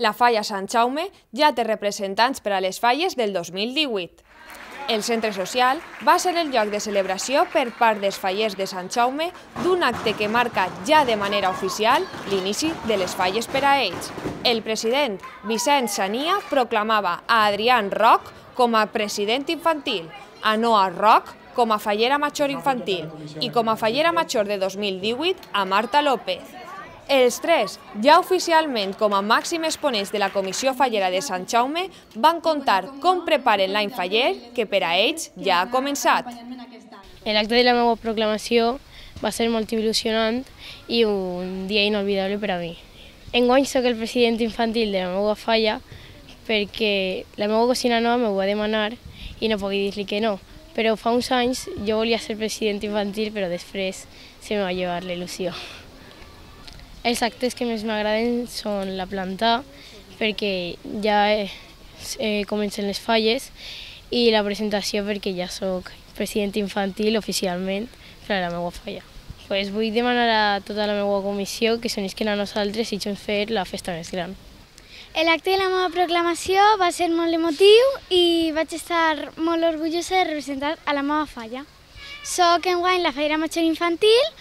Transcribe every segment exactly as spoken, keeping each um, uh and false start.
La Falla Sant Jaume ja té representants per a les falles del dos mil divuit. El centre social va ser el lloc de celebració per part dels fallers de Sant Jaume d'un acte que marca ja de manera oficial l'inici de les falles per a ells. El president Vicent Sania proclamava a Adrián Roch com a president infantil, a Noa Roch com a fallera major infantil i com a fallera major de dos mil divuit a Marta López. Els tres, ja oficialment com a màxims exponents de la Comissió Fallera de Sant Jaume, van contar com preparen l'any faller, que per a ells ja ha començat. L'acte de la meva proclamació va ser molt il·lusionant i un dia inolvidable per a mi. Enguany soc el president infantil de la meva falla perquè la meva cosina nova m'ho va demanar i no puc dir-li que no. Però fa uns anys jo volia ser president infantil, però després se me va llevar la il·lusió. Els actes que més m'agraden són la planta, perquè ja eh, comencen les falles, i la presentació perquè ja soc president infantil oficialment per a la meva falla. Pues vull demanar a tota la meva comissió que s'unisquen a nosaltres i junts fer la festa més gran. L'acte de la meva proclamació va ser molt emotiu i vaig estar molt orgullosa de representar a la meva falla. Soc enguany la fallera major infantil,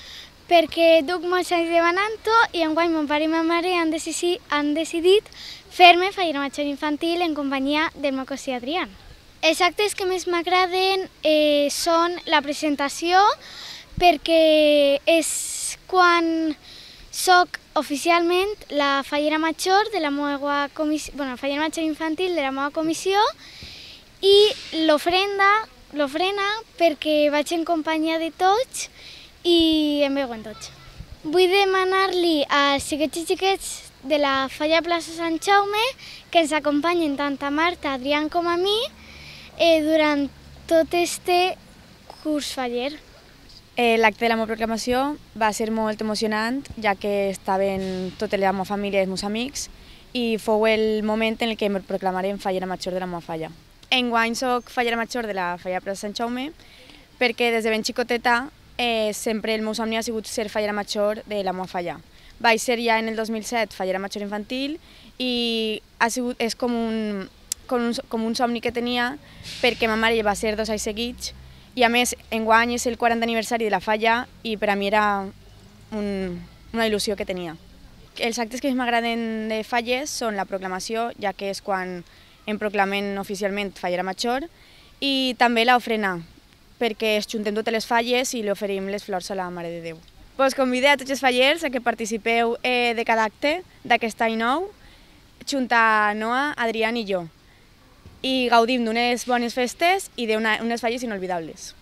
perquè duc molts anys demanant-ho i enguany mon pare i ma mare han decidit, han decidit fer-me fallera major infantil en companyia del meu cosí Adrián. Els actes que més m'agraden eh, són la presentació, perquè és quan soc oficialment la fallera major de la meva comissió, bueno, la fallera major infantil de la meva comissió, i l'ofrenda, l'ofrena perquè vaig en companyia de tots i em veuen tots. Vull demanar-li als xiquets i xiquets de la falla plaça Sant Jaume que ens acompanyen tant a Marta, Adrián com a mi eh, durant tot este curs faller. Eh, L'acte de la meva proclamació va ser molt emocionant, ja que estaven tota la meva família i els meus amics i fou el moment en què em proclamarem fallera major de la meva falla. Enguany soc fallera major de la falla plaça Sant Jaume perquè des de ben xicoteta Eh, sempre el meu somni ha sigut ser fallera major de la meva falla. Vaig ser ja en el dos mil set fallera major infantil i ha sigut, és com un, com, un, com un somni que tenia perquè ma mare va ser dos anys seguits i a més enguany és el quarantè aniversari de la falla i per a mi era un, una il·lusió que tenia. Els actes que més m'agraden de falles són la proclamació, ja que és quan em proclamen oficialment fallera major, i també l'ofrena, perquè es juntem totes les falles i li oferim les flors a la Mare de Déu. Pues convido a tots els fallers a que participeu eh, de cada acte d'aquest any nou, junt a Noa, Adrián i jo, i gaudim d'unes bones festes i d'unes falles inolvidables.